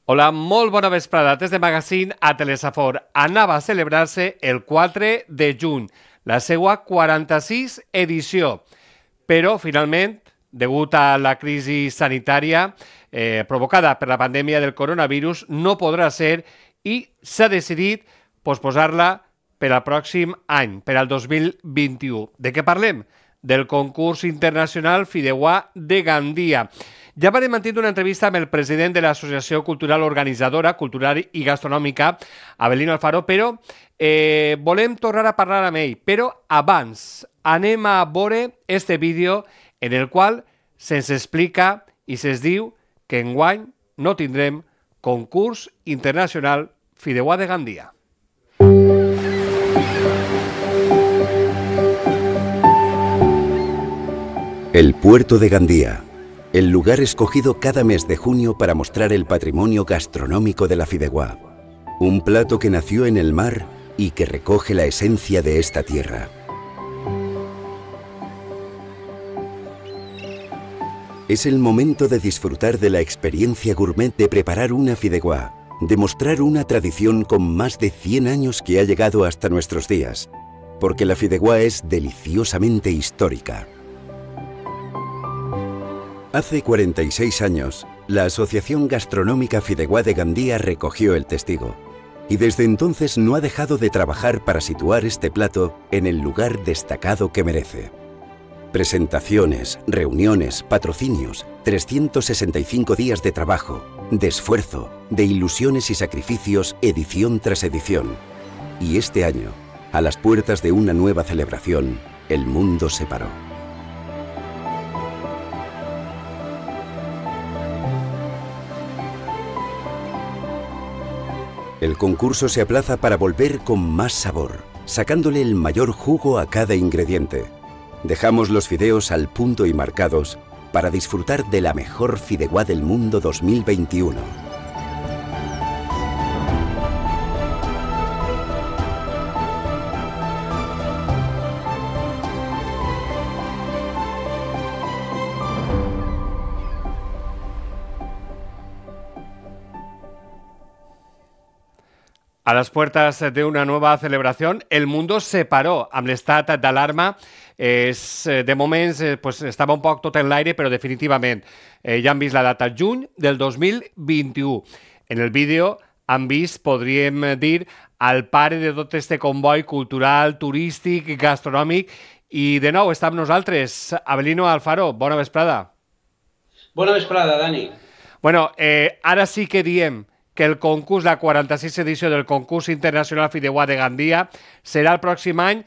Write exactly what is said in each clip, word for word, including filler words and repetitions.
Hola, molt bona vesprada. Des de Magazine a Telesafor. Anava a celebrar-se el quatre de juny, la seva quaranta-sis edició. Però, finalment, degut a la crisi sanitària eh, provocada per la pandèmia del coronavirus, no podrà ser i s'ha decidit posposar-la per al pròxim any, per al dos mil vint-i-u. De què parlem? Del concurs internacional Fideuà de Gandia. Ja vam mantenir una entrevista amb el president de l'Associació Cultural Organitzadora, Cultural i Gastronòmica, Avelino Alfaro, però eh, volem tornar a parlar amb ell. Però abans anem a veure este vídeo en el qual se'ns explica i se'ns diu que enguany no tindrem concurs internacional Fideuà de Gandia. El puerto de Gandía, el lugar escogido cada mes de junio para mostrar el patrimonio gastronómico de la fideuà. Un plato que nació en el mar y que recoge la esencia de esta tierra. Es el momento de disfrutar de la experiencia gourmet de preparar una fideuà, de mostrar una tradición con más de cien años que ha llegado hasta nuestros días, porque la fideuà es deliciosamente histórica. Hace cuarenta y seis años, la Asociación Gastronómica Fideuà de Gandia recogió el testigo y desde entonces no ha dejado de trabajar para situar este plato en el lugar destacado que merece. Presentaciones, reuniones, patrocinios, trescientos sesenta y cinco días de trabajo, de esfuerzo, de ilusiones y sacrificios, edición tras edición. Y este año, a las puertas de una nueva celebración, el mundo se paró. El concurso se aplaza para volver con más sabor, sacándole el mayor jugo a cada ingrediente. Dejamos los fideos al punto y marcados para disfrutar de la mejor fideuà del mundo dos mil veintiuno. A las puertas de una nueva celebración, el mundo se paró amb l'estat d'alarma. Es, de moments eh, pues, estava un poc tot en l'aire, però definitivament eh, ja han vist la data, juny del dos mil vint-i-u. En el vídeo han vist, podríem dir, al pare de tot este comboi cultural, turístic, gastronòmic, i de nou està amb nosaltres Avelino Alfaro. Bona vesprada. Bona vesprada, Dani. Bueno, eh, ara sí que diem que el concurs, la quaranta-sis edició del concurs internacional Fideuà de Gandia serà el pròxim any,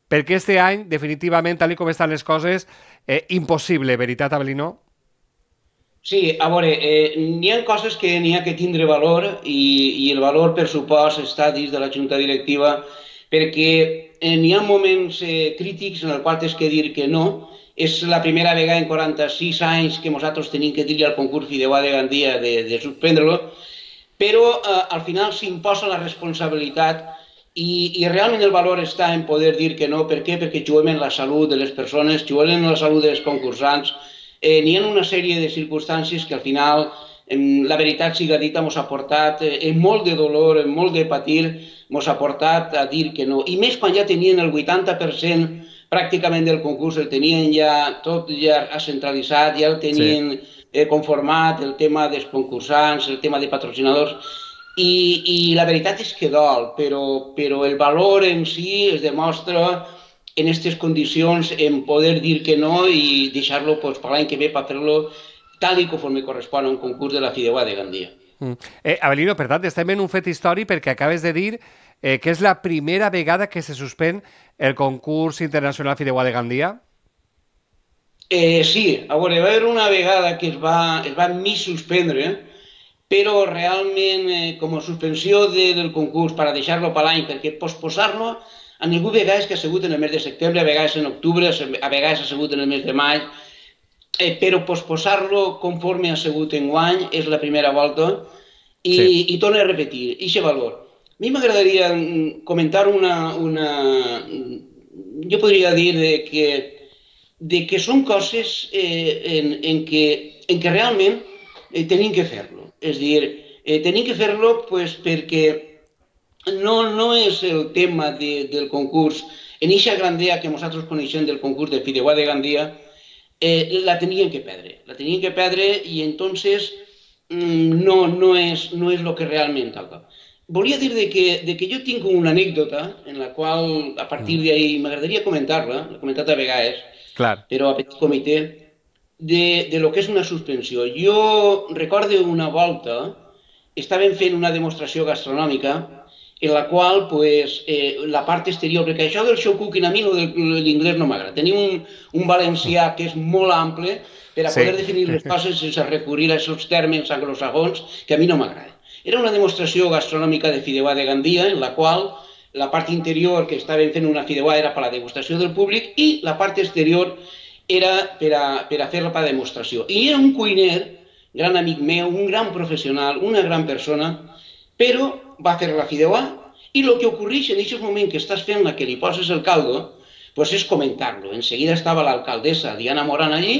perquè este any, definitivament, tal com estan les coses, eh, impossible, veritat, Avelino? Sí, a veure, eh, n'hi ha coses que n'hi ha que tindre valor i, i el valor, per supost, està dins de la Junta Directiva, perquè eh, n'hi ha moments eh, crítics en els quals has que dir que no. És la primera vegada en quaranta-sis anys que nosaltres tenim que dir al concurs Fideuà de Gandia de, de suspendre-lo, però eh, al final s'imposa la responsabilitat i, i realment el valor està en poder dir que no. Per què? Perquè juguem en la salut de les persones, juguem en la salut dels concursants. Eh, N'hi ha una sèrie de circumstàncies que al final, eh, la veritat siga dita, ens ha portat eh, en molt de dolor, en molt de patir, ens ha portat a dir que no. I més quan ja tenien el vuitanta per cent pràcticament del concurs, el tenien ja tot ja centralitzat, ja el tenien... Sí. Eh, conformat, el tema dels concursants, el tema de patrocinadors, i, i la veritat és que dol, però, però el valor en si es demostra en aquestes condicions, en poder dir que no i deixar-lo pues, per l'any que ve per fer-lo tal i conforme correspon a un concurs de la Fideuà de Gandia. Mm. Eh, Avelino, per tant, estem en un fet històric perquè acabes de dir eh, que és la primera vegada que se suspèn el concurs internacional Fideuà de Gandia. Eh, sí, a veure, va haver una vegada que es va, es va mig suspendre, però realment eh, com a suspensió de, del concurs per a deixar-lo per l'any, perquè posposar-lo a ningú vegades que ha sigut en el mes de setembre, a vegades en octubre, a vegades ha sigut en el mes de maig, eh, però posposar-lo conforme ha sigut enguany és la primera volta i, sí. i torno a repetir, i aquest valor. A mi m'agradaria comentar una, una... Jo podria dir de que de que són coses eh, en, en, que, en que realment eh, tenim que fer-lo. És a dir, Eh, tenim que fer-lo pues, perquè no, no és el tema de, del concurs. En eixa grandea que nosaltres coneixem del concurs de Fideuà de Gandia, eh, la tenien que perdre. La tenien que perdre i entonces no, no, és, no és el que realment toca. Volia dir de que, de que jo tinc una anècdota en la qual, a partir d'ahir, m'agradaria comentar-la, l'he comentat a vegades, Clar. però a petit comitè, de, de lo que és una suspensió. Jo recordo una volta, estàvem fent una demostració gastronòmica en la qual pues, eh, la part exterior, perquè això del show cooking a mi l'inglès no m'agrada. Tenim un, un valencià que és molt ample per a sí. poder definir les coses sense recurrir a aquests termes anglosajons que a mi no m'agrada. Era una demostració gastronòmica de Fideuà de Gandia en la qual la part interior que estàvem fent una fideuà era per a la degustació del públic i la part exterior era per a, per a fer-la per a demostració. I era un cuiner, gran amic meu, un gran professional, una gran persona, però va fer la fideuà i el que ocorreix en aquest moment que estàs fent la que li poses el caldo pues és comentar-lo. En seguida estava l'alcaldessa Diana Morán allí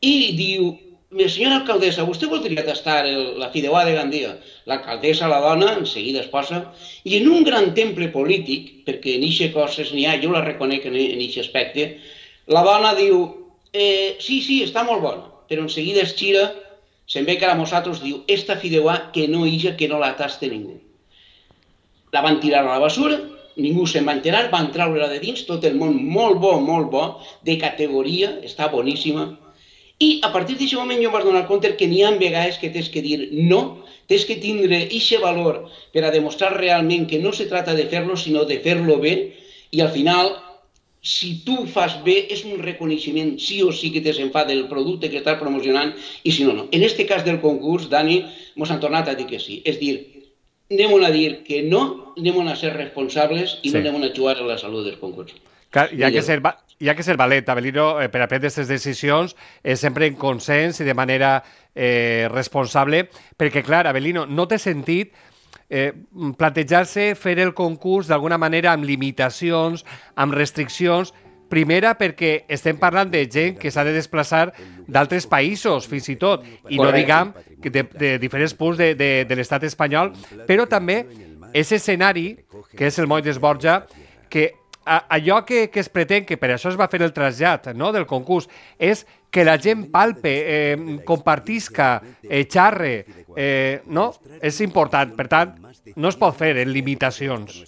i diu: senyora alcaldessa, vostè voldria tastar el, la fideuà de Gandia? L'alcaldessa, la dona, en seguida es posa, i en un gran temple polític, perquè en aquestes coses n'hi ha, jo la reconec en aquest aspecte, la dona diu, eh, sí, sí, està molt bona, però en seguida es gira, se'n ve cara a nosaltres, diu, esta fideuà que no ija, que no la taste ningú. La van tirar a la basura, ningú se'n va enterar, van treure-la de dins, tot el món molt bo, molt bo, de categoria, està boníssima. I a partir d'aquest moment jo em vaig donar compte que n'hi ha vegades que tens que dir no, tens que tindre aquest valor per a demostrar realment que no se trata de fer-lo, sinó de fer-lo bé, i al final, si tu fas bé, és un reconeixement sí o sí que te se'n fa del producte que estàs promocionant, i si no, no. En aquest cas del concurs, Dani, ens han tornat a dir que sí. És dir, anem a dir que no, anem a ser responsables i sí. no anem a jugar a la salut del concurs. Clar, hi ha que ser, hi ha que ser valent, Avelino, eh, per a prendre aquestes decisions, eh, sempre en consens i de manera eh, responsable, perquè, clar, Avelino, no té sentit eh, plantejar-se fer el concurs d'alguna manera amb limitacions, amb restriccions, primera perquè estem parlant de gent que s'ha de desplaçar d'altres països, fins i tot, i no diguem de, de diferents punts de, de, de l'estat espanyol, però també aquest escenari, que és el Moll d'Esborja, que allò que, que es pretén, que per això es va fer el trasllat no, del concurs, és que la gent palpe, eh, compartisca, eh, xarre, eh, no? És important. Per tant, no es pot fer en limitacions.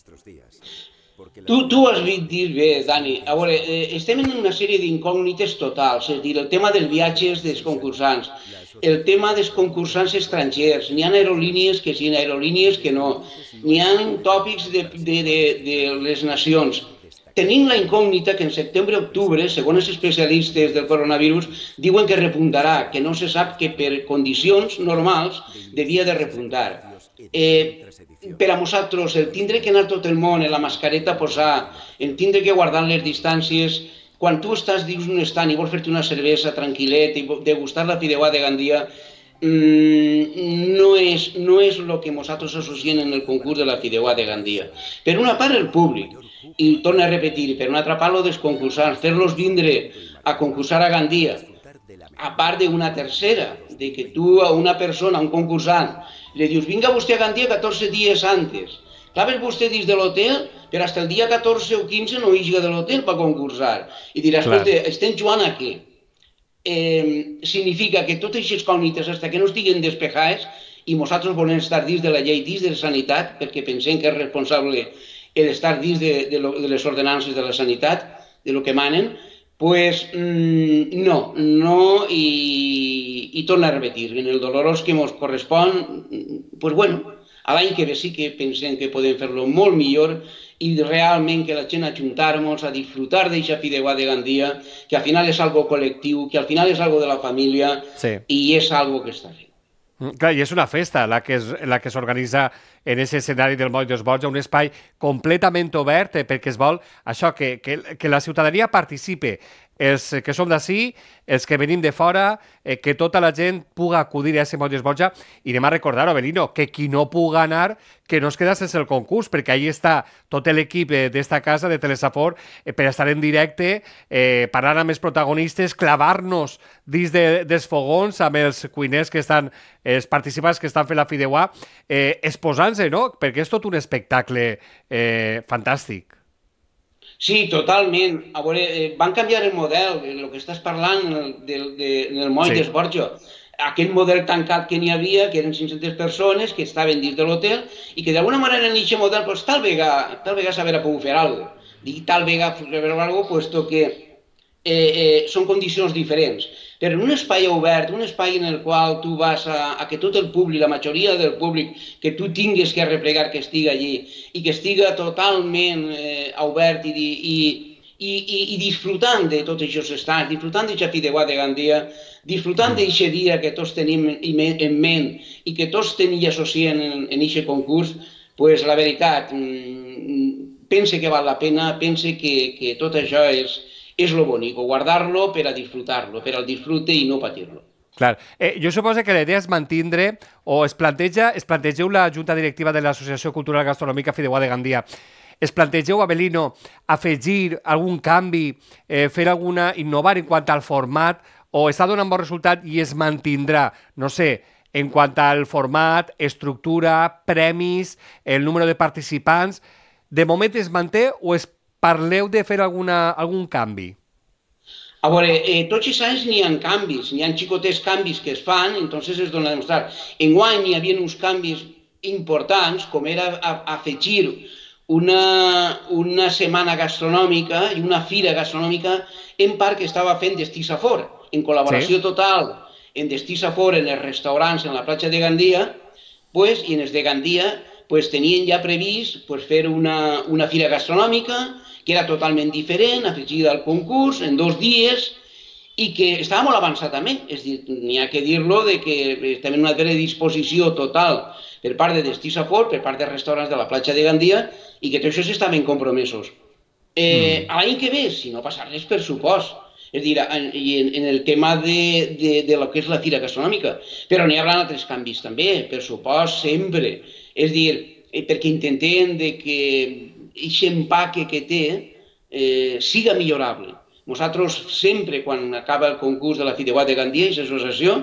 Tu, tu has dit bé, Dani. A veure, eh, estem en una sèrie d'incògnites totals, és a dir, el tema dels viatges dels concursants, el tema dels concursants estrangers, n'hi ha aerolínies que sí, aerolínies que no, n'hi ha tòpics de, de, de, de les nacions. Tenim la incògnita que en setembre-octubre, segons els especialistes del coronavirus, diuen que repuntarà, que no se sap que per condicions normals devia de repuntar. Eh, per a nosaltres, el tindre que anar tot el món en la mascareta a posar, el tindre que guardar les distàncies, quan tu estàs dins un estant i vols fer-te una cervesa tranquil·let i degustar la fideuà de Gandia, mmm, no és, no és el que nosaltres associem en el concurs de la fideuà de Gandia. Per una part, el públic. I torno a repetir, per una altra part, el dels concursants, fer-los vindre a concursar a Gandia, a part d'una tercera, de que tu a una persona, a un concursant, li dius, vinga vostè a Gandia catorze dies antes. Clar, ves vostè dins de l'hotel, però fins el dia catorze o quinze no higa de l'hotel per concursar. I diràs, escolta, estem jugant aquí. Eh, significa que totes aquestes cògnites, fins que no estiguen despejades, i nosaltres volem estar dins de la llei, dins de la sanitat, perquè pensem que és responsable d'estar dins de, de, lo, de les ordenances de la sanitat, de lo que manen, pues mmm, no, no, i, i torno a repetir, en el dolorós que ens correspon, pues bueno, a l'any que ve sí que pensem que podem fer-lo molt millor i realment que la gent ajuntar-nos a disfrutar d'aquesta fideuà de Gandia, que al final és algo col·lectiu, que al final és algo de la família sí. i és algo que està fent. Clar, i és una festa la que, es, la que s'organitza en aquest escenari del Moll d'Esborja, un espai completament obert eh, perquè es vol això, que, que, que la ciutadania participe els que som d'ací, els que venim de fora, eh, que tota la gent puga acudir a aquest Moll d'Esborja. I anem a recordar, Avelino, que qui no puga anar, que no es queda sense el concurs, perquè ahí està tot l'equip eh, d'esta casa, de Telesafor, eh, per estar en directe, eh, parlar amb els protagonistes, clavar-nos dins de, dels fogons amb els cuiners que estan, els participants que estan fent la fideuà, eh, exposant-se, no? Perquè és tot un espectacle eh, fantàstic. Sí, totalment. A veure, eh, van canviar el model, el que estàs parlant del, de, del Moll sí. d'Esborja. Aquell model tancat que n'hi havia, que eren cinc-centes persones que estaven dins de l'hotel i que d'alguna manera en aquest model pues, tal vegada, tal vegada s'haver pogut fer alguna cosa. Dic tal vegada fer alguna cosa, puesto que eh, eh, són condicions diferents. Però en un espai obert, un espai en el qual tu vas a, a que tot el públic, la majoria del públic, que tu tingues que replegar que estigui allí i que estiga totalment eh, obert i, i, i, i, i disfrutant de tots aquests estats, disfrutant d'aquesta fideuà de Gandia, disfrutant d'aquest dia que tots tenim en ment i que tots tenim i associem en aquest concurs, pues la veritat, pense que val la pena, pense que, que tot això és... és lo bonic, guardar-lo per a disfrutar-lo, per al disfrute i no patir-lo. Clar. Eh, jo suposo que la idea és mantindre o es planteja, es plantegeu la Junta Directiva de l'Associació Cultural Gastronòmica Fideuà de Gandia, es plantegeu, Avelino, afegir algun canvi, eh, fer alguna, innovar en quant al format, o està donant bon resultat i es mantindrà, no sé, en quant al format, estructura, premis, el número de participants, de moment es manté o es parleu de fer alguna, algun canvi? A veure, eh, tots els anys n'hi ha canvis, n'hi ha xicotets canvis que es fan, entonces es dona a demostrar. Enguany n'hi havia uns canvis importants, com era afegir una, una setmana gastronòmica i una fira gastronòmica en part que estava fent Destí Safor, en col·laboració sí. total en Destí Safor, en els restaurants, en la platja de Gandia, pues, i en els de Gandia pues, tenien ja previst pues, fer una, una fira gastronòmica que era totalment diferent, afegida al concurs, en dos dies, i que estava molt avançat també. És dir, n'hi ha que dir-lo de que estem en una predisposició total per part de Destí Safor, per part dels restaurants de la platja de Gandia, i que tots això estaven compromesos. Eh, mm. L'any que ve, si no passa res, per supost. És dir, en, en el tema de, de, de lo que és la fira gastronòmica. Però n'hi haurà altres canvis també, per supost, sempre. És dir, perquè intentem de que aquest empaque que té eh, siga millorable. Nosaltres sempre, quan acaba el concurs de la Fideuà de Gandia, aquesta associació,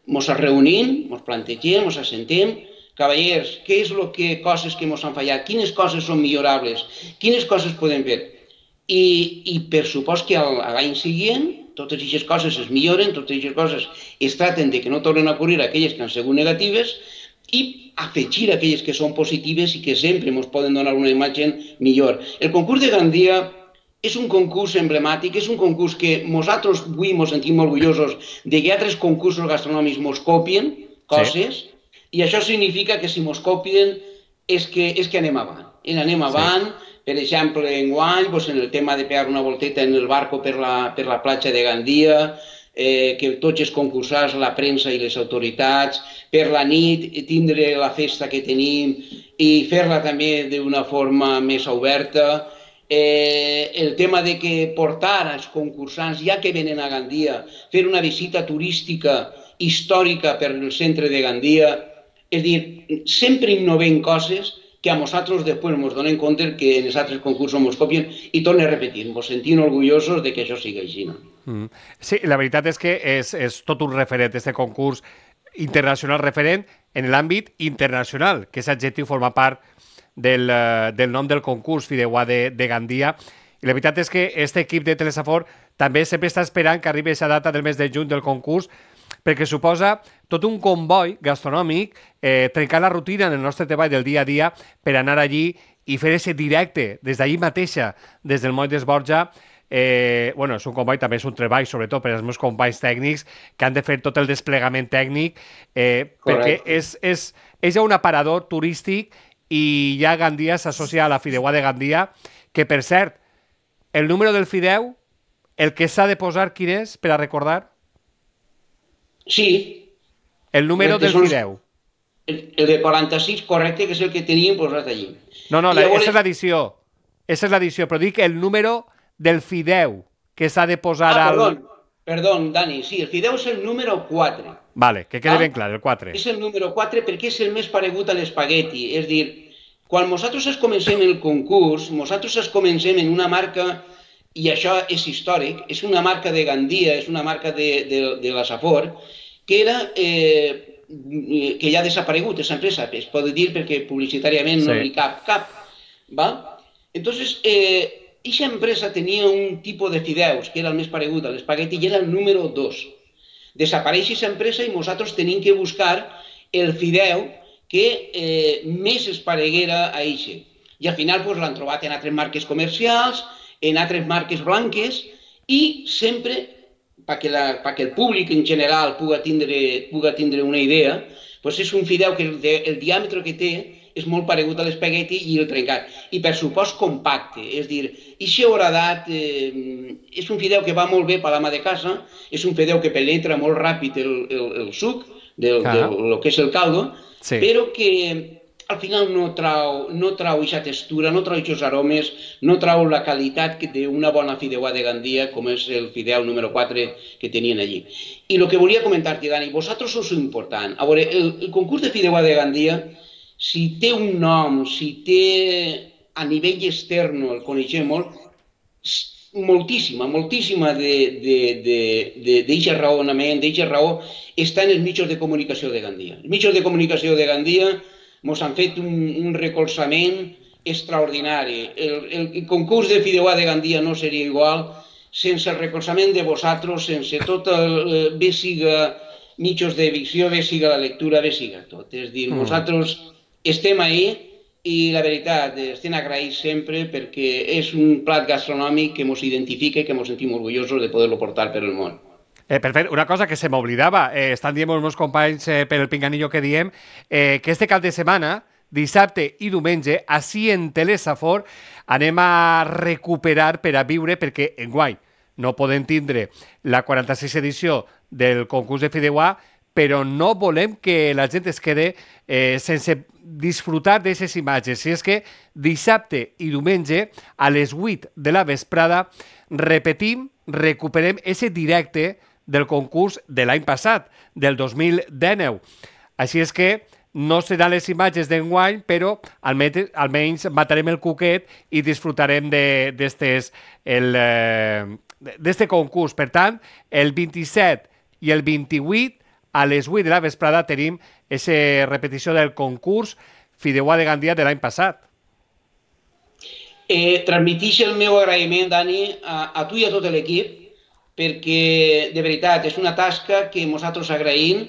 ens reunim, ens plantegem, ens assentem, cavallers, què és lo que, coses que ens han fallat, quines coses són millorables, quines coses podem fer. I, i per supost que l'any següent totes aquestes coses es milloren, totes aquestes coses es traten de que no tornen a ocorrir aquelles que han sigut negatives i afegir aquelles que són positives i que sempre ens poden donar una imatge millor. El concurs de Gandia és un concurs emblemàtic, és un concurs que nosaltres avui ens sentim orgullosos de que altres concursos gastronòmics ens copien coses, sí. I això significa que si ens copien és que, és que anem avant. I anem avant, sí. Per exemple, enguany, doncs, en el tema de pegar una volteta en el barco per la, per la platja de Gandia, eh, que tots els concursants, la premsa i les autoritats, per la nit tindre la festa que tenim i fer-la també d'una forma més oberta. Eh, el tema de que portar als concursants, ja que venen a Gandia, fer una visita turística històrica per el centre de Gandia, és dir, sempre innovem coses que a nosaltres després ens donem compte que en els altres concursos ens copien i tornem a repetir, ens sentim orgullosos de que això sigui així. No? Mm. Sí, la veritat és que és, és tot un referent, aquest concurs internacional referent en l'àmbit internacional, que és adjectiu forma part del, del nom del concurs Fideuà de, de Gandia. I la veritat és que aquest equip de Telesafor també sempre està esperant que arribi aquesta data del mes de juny del concurs, perquè suposa tot un comboi gastronòmic, eh, trencar la rutina en el nostre treball del dia a dia per anar allí i fer aquest directe des d'allí mateixa, des del Moll d'Esborja. Eh, bueno, és un comboi, també és un treball, sobretot per als meus companys tècnics, que han de fer tot el desplegament tècnic, eh, perquè és, és, és ja un aparador turístic i ja Gandia s'associa a la Fideuà de Gandia, que per cert, el número del Fideu, el que s'ha de posar, quin és, per a recordar? Sí. El número del Fideu. El, el de quaranta-sis, correcte, que és el que teníem posat allí. No, no, aquesta és l'edició. Aquesta és l'edició, però dic el número del Fideu. que s'ha de posar ah, al... perdó, perdó, Dani, sí, el fideu és el número quatre. Vale, que quede ah? ben clar, el quatre. És el número quatre perquè és el més paregut a l'espagueti, és dir, quan nosaltres es comencem el concurs, nosaltres es comencem en una marca, i això és històric, és una marca de Gandia, és una marca de, de, de la Safor, que era... Eh, que ja ha desaparegut aquesta empresa, es pot dir perquè publicitàriament sí. no hi cap cap. Va? Entonces, eh, aquesta empresa tenia un tipus de fideus que era el més paregut a l'espagueti i era el número dos. Desapareix aquesta empresa i nosaltres tenim que buscar el fideu que eh, més es pareguera a eixe. I al final pues, l'han trobat en altres marques comercials, en altres marques blanques i sempre perquè, la, perquè el públic en general puga tindre, puga tindre una idea, doncs és un fideu que el, el diàmetre que té és molt paregut a l'espagueti i el trencat. I per supost compacte, és dir, eixe horadat eh, és un fideu que va molt bé per l'ama de casa, és un fideu que penetra molt ràpid el, el, el suc del, ah. del, del que és el caldo, sí. però que al final no trau, no trau aquesta textura, no trau aquests aromes, no trau la qualitat d'una bona fideuà de Gandia, com és el fideu número quatre que tenien allí. I el que volia comentar-te, Dani, vosaltres sou important. A veure, el, el concurs de fideuà de Gandia, si té un nom, si té a nivell extern, el coneixem molt, moltíssima, moltíssima d'aquest raonament, d'aquesta raó, està en els mitjans de comunicació de Gandia. Els mitjans de comunicació de Gandia ens han fet un, un recolzament extraordinari. El, el, el concurs de fideuà de Gandia no seria igual sense el recolzament de vosaltres, sense tot el... bé siga mitjans de visió, bé siga la lectura, bé siga tot. És dir, mm. nosaltres estem ahí i la veritat, estem agraïts sempre perquè és un plat gastronòmic que ens identifica i que ens sentim orgullosos de poder-lo portar per el món. Eh, perfecte. Una cosa que se m'oblidava, eh, estan dient els meus companys eh, per el pinganillo que diem, eh, que este cap de setmana, dissabte i diumenge, així en Telesafor, anem a recuperar per a viure, perquè enguany no podem tindre la quaranta-sisena edició del concurs de fideuà, però no volem que la gent es quede eh, sense disfrutar d'aquestes imatges. Si és que dissabte i diumenge, a les vuit de la vesprada, repetim, recuperem ese directe del concurs de l'any passat, del dos mil dinou. Així és que no seran les imatges d'enguany, però almenys, almenys matarem el cuquet i disfrutarem d'este eh, concurs. Per tant, el vint-i-set i el vint-i-vuit, a les vuit de la vesprada, tenim aquesta repetició del concurs fideuà de Gandia de l'any passat. Eh, transmitix el meu agraïment, Dani, a, a tu i a tot l'equip, perquè, de veritat, és una tasca que nosaltres agraïm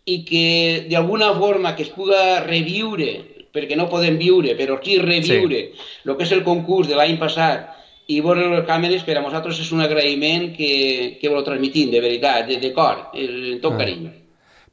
i que, d'alguna forma, que es puga reviure, perquè no podem viure, però sí reviure sí. el que és el concurs de l'any passat i veure les càmeres, per a nosaltres és un agraïment que, que ho transmitim, de veritat, de, de cor, en tot ah. carinyo.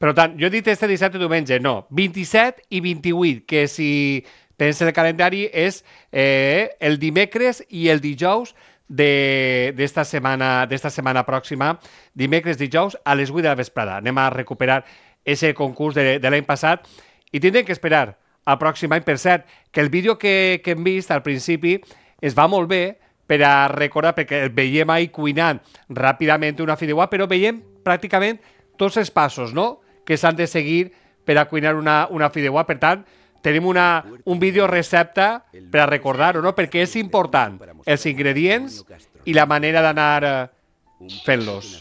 Per tant, jo he dit este dissabte i diumenge, no, vint-i-set i vint-i-vuit, que si pensa el calendari és eh, el dimecres i el dijous d'esta setmana, d'esta setmana pròxima, dimecres, dijous, a les vuit de la vesprada. Anem a recuperar aquest concurs de, de l'any passat i tindrem que esperar al pròxim any. Per cert, que el vídeo que, que hem vist al principi es va molt bé per a recordar, perquè el veiem ahí cuinant ràpidament una fideuà, però veiem pràcticament tots els passos, no?, que s'han de seguir per a cuinar una, una fideuà. Per tant, tenim una, un vídeo recepta per a recordar-ho, no? Perquè és important els ingredients i la manera d'anar fent-los.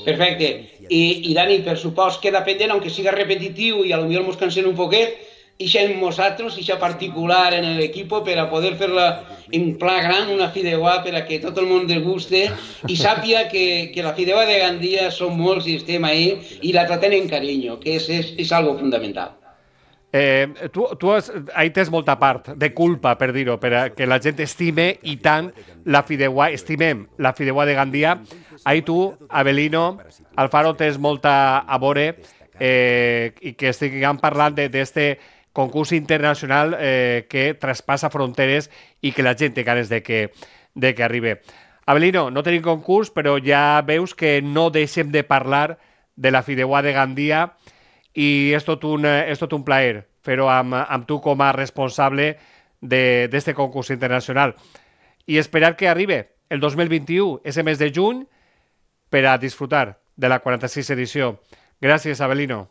Perfecte. I, i Dani, per supost, queda pendent, aunque siga repetitiu i a lo millor mos cansem un poquet, ixa en nosaltres, ixa particular en l'equip per a poder fer-la en pla gran, una fideuà per a que tot el món deguste i sàpia que, que la fideuà de Gandia som molts i estem ahí i la tratem en carinyo, que és, és, és algo fundamental. Eh, tu tu has, ahí tens molta part de culpa, per dir-ho, per a que la gent estime i tant la fideuà, estimem la fideuà de Gandia. Ahí tu, Avelino, Alfaro, tens molta a veure eh, i que estiguem parlant d'este concurs internacional eh, que traspassa fronteres i que la gent té ganes de que, de que arribi. Avelino, no tenim concurs, però ja veus que no deixem de parlar de la fideuà de Gandia i és tot un, és tot un plaer fer-ho amb, amb tu com a responsable d'este concurs internacional. I esperar que arribi el dos mil vint-i-u, ese mes de juny, per a disfrutar de la quaranta-sis edició. Gràcies, Avelino.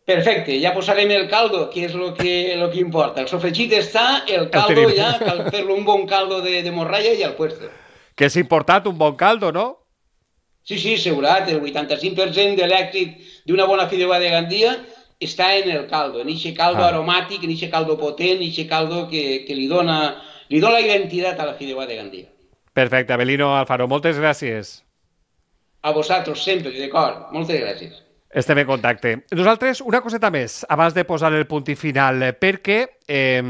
Perfecte, ja posarem el caldo, que és el que, lo que importa. El sofregit està, el caldo el ja, cal fer-lo un bon caldo de, de morralla i al puesto. Que és important un bon caldo, no? Sí, sí, segurat, el vuitanta-cinc per cent de l'èxit d'una bona fideuà de Gandia està en el caldo, en aquest caldo ah. aromàtic, en aquest caldo potent, en aquest caldo que, que li, dona, li dona la identitat a la fideuà de Gandia. Perfecte, Avelino Alfaro, moltes gràcies. A vosaltres sempre, d'acord, moltes gràcies. Estem en contacte. Nosaltres, una coseta més, abans de posar el punt i final, perquè eh,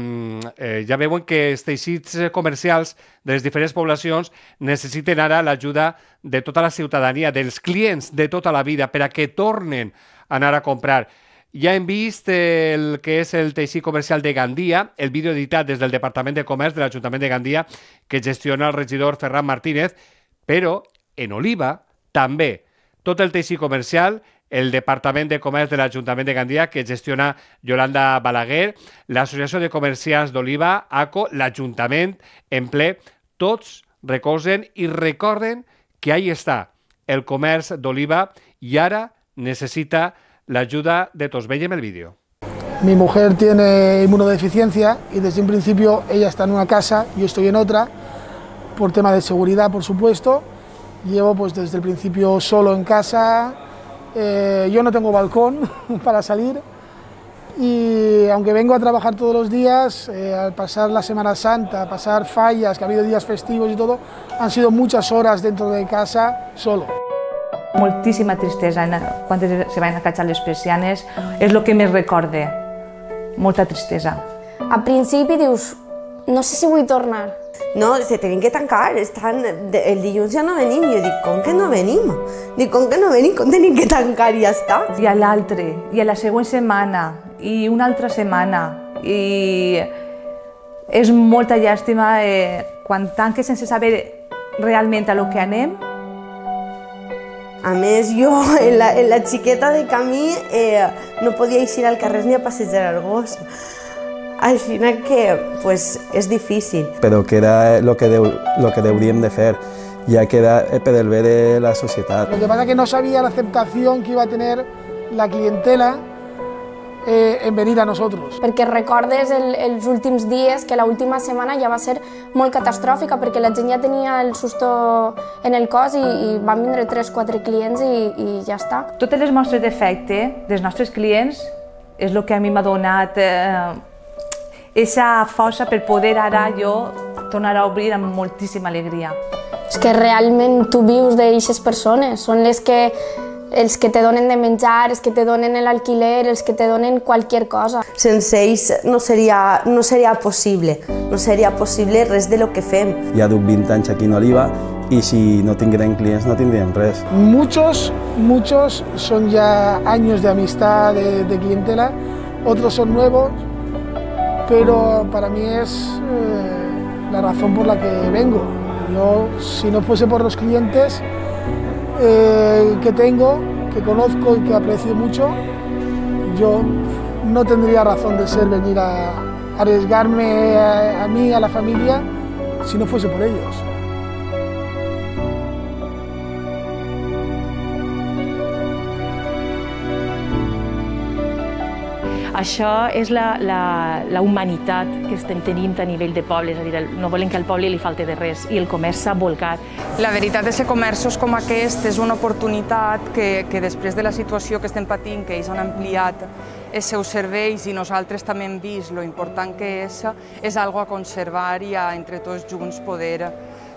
eh, ja veuen que els teixits comercials de les diferents poblacions necessiten ara l'ajuda de tota la ciutadania, dels clients de tota la vida, per a que tornen a anar a comprar. Ja hem vist el que és el teixit comercial de Gandia, el vídeo editat des del Departament de Comerç de l'Ajuntament de Gandia, que gestiona el regidor Ferran Martínez, però en Oliva també tot el teixit comercial, el Departament de Comerç de l'Ajuntament de Gandia, que gestiona Yolanda Balaguer, l'Associació de Comerciants d'Oliva, A C O, l'Ajuntament en ple, tots recolzen i recorden que ahí està el comerç d'Oliva i ara necessita l'ayuda de todos. Veiem el vídeo. Mi mujer tiene inmunodeficiencia y desde un principio ella está en una casa, yo estoy en otra, por tema de seguridad, por supuesto. Llevo pues desde el principio solo en casa, eh, yo no tengo balcón para salir y aunque vengo a trabajar todos los días, eh, al pasar la Semana Santa, pasar fallas, que ha habido días festivos y todo, han sido muchas horas dentro de casa solo. Moltíssima tristesa quan se van acatxar les persianes, és el que més recorde, molta tristesa. Al principi dius, no sé si vull tornar. No, se tenen que tancar, estan, el dilluns ja no venim, jo dic, com que no venim? Dic, com que no venim, com tenim que tancar i ja està? I a l'altre, i a la següent setmana, i una altra setmana, i és molta llàstima eh, quan tanques sense saber realment a lo que anem. A més, jo, en la, en la xiqueta de camí, eh, no podia eixir al carrer ni a passejar el gos. Així que pues, és difícil. Però que era el que, deu, lo que hauríem de fer, ja que era per el bé de la societat. Lo que pasa es que no sabía la aceptación que iba a tener la clientela eh, en venir a nosotros. Perquè recordes el, els últims dies, que l'última setmana ja va ser molt catastròfica, perquè la gent ja tenia el susto en el cos i, i van vindre tres o quatre clients i, i ja està. Totes les mostres d'efecte dels nostres clients és el que a mi m'ha donat eh, esa força per poder ara jo tornar a obrir amb moltíssima alegria. És que realment tu vius d'aixes persones, són les que els que te donen de menjar, els que te donen l'alquiler, els que te donen qualsevol cosa. Sense ells no seria, no seria possible, no seria possible res de lo que fem. Ja duc vint anys aquí en Oliva i si no tinguérem clients no tindríem res. Muchos, muchos son ya años de amistad, de, de clientela, otros son nuevos, pero para mí es eh, la razón por la que vengo. Yo, si no fuese por los clientes eh, que tengo, que conozco y que aprecio mucho, yo no tendría razón de ser venir a arriesgarme a, a mí, a la familia, si no fuese por ellos. Això és la, la, la humanitat que estem tenint a nivell de pobles, és a dir, no volem que al poble li falti de res i el comerç s'ha volcat. La veritat és que comerços com aquest és una oportunitat que, que després de la situació que estem patint, que ells han ampliat els seus serveis i nosaltres també hem vist lo important que és, és algo a conservar i a entre tots junts poder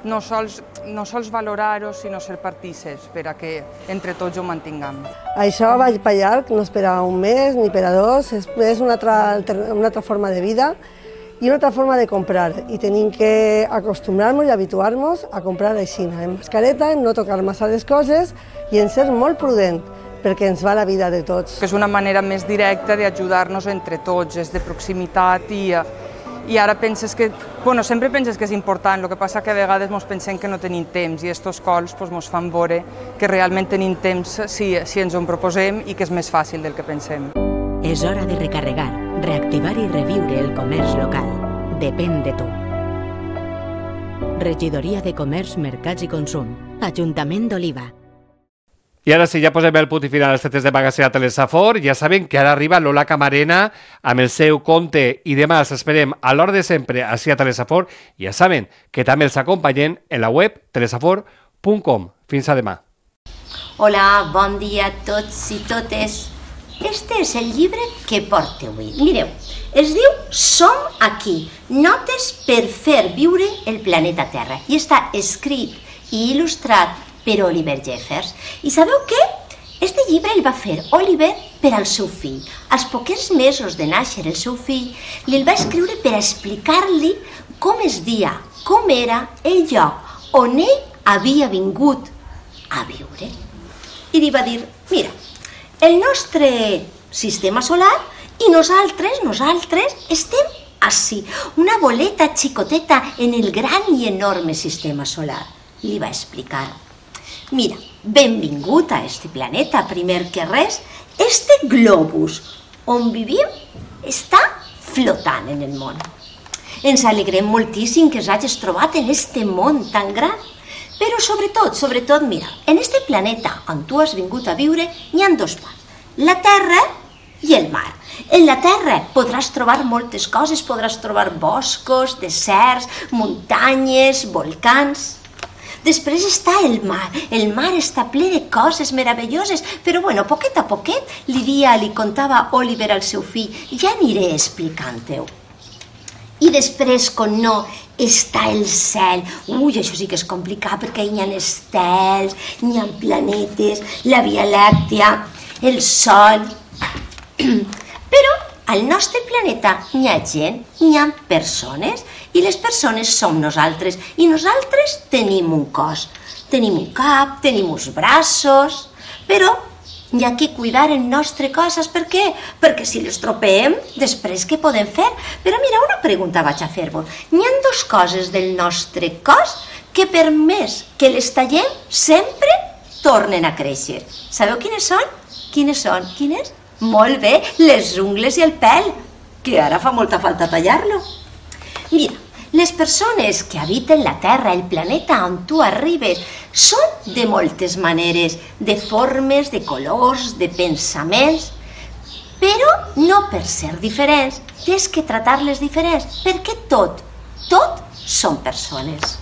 no sols, no sols valorar-ho, sinó ser partíceps per a que entre tots ho mantinguem. Això vaig per llarg, no és per a un mes ni per a dos, és una altra, una altra forma de vida i una altra forma de comprar. I tenim que acostumar-nos i habituar-nos a comprar així, en mascareta, en no tocar massa les coses i en ser molt prudent, perquè ens va la vida de tots. És una manera més directa d'ajudar-nos entre tots, és de proximitat i I ara penses que, bueno, sempre penses que és important, el que passa que a vegades ens pensem que no tenim temps i estos cols ens fan veure que realment tenim temps si, si ens ho proposem i que és més fàcil del que pensem. És hora de recarregar, reactivar i reviure el comerç local. Depèn de tu. Regidoria de Comerç, Mercats i Consum. Ajuntament d'Oliva. I ara sí, ja posem el punt i final als tetes de magazín a Telesafor. Ja saben que ara arriba Lola Camarena amb el seu conte i demà els esperem a l'hora de sempre així a Telesafor. Ja saben que també els acompanyen en la web telesafor punt com. Fins a demà. Hola, bon dia a tots i totes. Este és el llibre que porto avui. Mireu, es diu Som aquí, notes per fer viure el planeta Terra. I està escrit i il·lustrat per Oliver Jeffers. I sabeu què? Este llibre el va fer Oliver per al seu fill. Als poquets mesos de nàixer el seu fill, li el va escriure per explicar-li com es dia, com era el lloc on ell havia vingut a viure. I li va dir, mira, el nostre sistema solar i nosaltres, nosaltres estem així, una boleta xicoteta en el gran i enorme sistema solar. Li va explicar, mira, benvingut a este planeta, primer que res, este globus on vivim està flotant en el món. Ens alegrem moltíssim que s'hagis trobat en este món tan gran. Però sobretot, sobretot, mira, en este planeta on tu has vingut a viure hi ha dos parts, la terra i el mar. En la terra podràs trobar moltes coses, podràs trobar boscos, deserts, muntanyes, volcans. Després està el mar. El mar està ple de coses meravelloses, però bueno, poquet a poquet li dia, li contava Oliver al seu fill, ja aniré explicant-ho. I després, com no, està el cel. Ui, això sí que és complicat perquè hi ha estels, hi ha planetes, la Via Làctea, el Sol. Però al nostre planeta hi ha gent, hi ha persones, i les persones som nosaltres, i nosaltres tenim un cos. Tenim un cap, tenim uns braços, però hi ha que cuidar el nostre cos, saps per què? Perquè si l'estropeem, després què podem fer? Però mira, una pregunta vaig a fer-vos. Hi ha dues coses del nostre cos que per més que les tallem, sempre tornen a créixer. Sabeu quines són? Quines són? Quines? Molt bé, les ungles i el pèl, que ara fa molta falta tallar-lo. Mira, les persones que habiten la Terra, el planeta on tu arribes, són de moltes maneres, de formes, de colors, de pensaments, però no per ser diferents, tens que tratar-les diferents, perquè tot, tot són persones.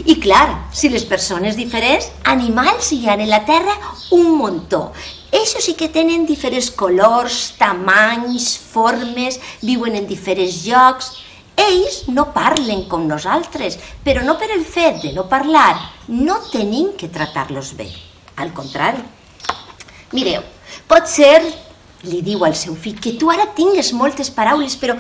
I clar, si les persones diferents, animals hi ha en la Terra un muntó. Ells sí que tenen diferents colors, tamanys, formes, viuen en diferents llocs. Ells no parlen com nosaltres, però no per el fet de no parlar, no tenim que tratar-los bé. Al contrari. Mireu, pot ser, li diu al seu fill, que tu ara tingues moltes paraules, però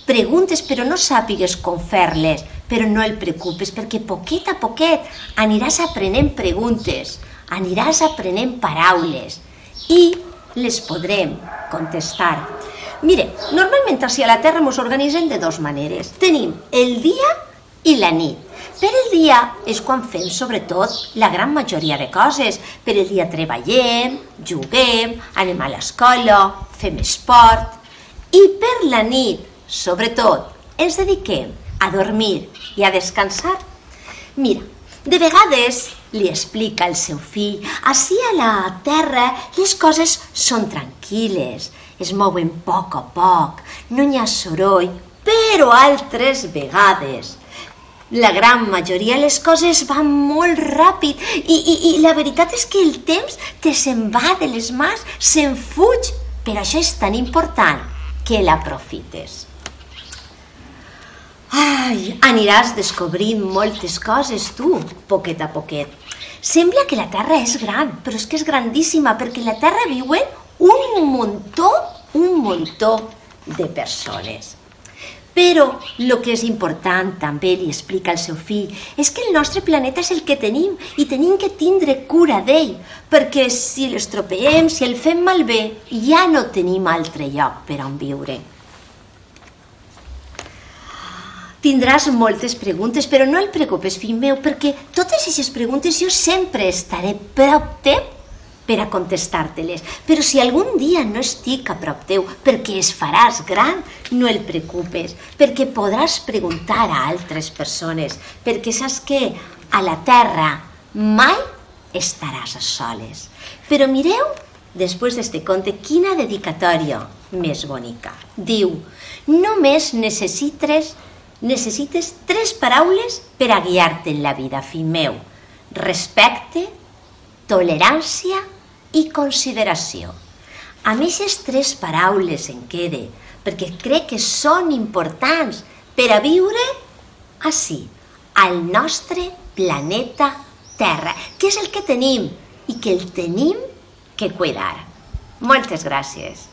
preguntes, però no sàpigues com fer-les, però no el preocupes, perquè poquet a poquet aniràs aprenent preguntes, aniràs aprenent paraules i les podrem contestar. Mire, normalment així a la Terra ens organitzem de dues maneres. Tenim el dia i la nit. Per el dia és quan fem, sobretot, la gran majoria de coses. Per el dia treballem, juguem, anem a l'escola, fem esport. I per la nit, sobretot, ens dediquem a dormir i a descansar. Mira, de vegades li explica al seu fill, així a la Terra les coses són tranquil·les, es mouen a poc a poc, no hi ha soroll, però altres vegades la gran majoria de les coses van molt ràpid i, i, i la veritat és que el temps te se'n va de les mans, se'n fuig, per això és tan important que l'aprofites. Ai, aniràs descobrint moltes coses tu, poquet a poquet. Sembla que la Terra és gran, però és que és grandíssima, perquè en la Terra viuen un muntó, un muntó de persones. Però el que és important, també li explica al seu fill, és que el nostre planeta és el que tenim i tenim que tindre cura d'ell, perquè si l'estropeem, si el fem malbé, ja no tenim altre lloc per on viure. Tindràs moltes preguntes, però no el preocupes, fill meu, perquè totes aquestes preguntes jo sempre estaré prop teu per a contestar-te-les. Però si algun dia no estic a prop teu perquè es faràs gran, no el preocupes, perquè podràs preguntar a altres persones, perquè saps que a la Terra mai estaràs a soles. Però mireu, després d'este conte, quina dedicatòria més bonica. Diu, només necessites, necessites tres paraules per a guiar-te en la vida, fill meu. Respecte, tolerància i consideració. Amb aquestes tres paraules en quede, perquè crec que són importants per a viure ací, al nostre planeta Terra, que és el que tenim i que el tenim que cuidar. Moltes gràcies.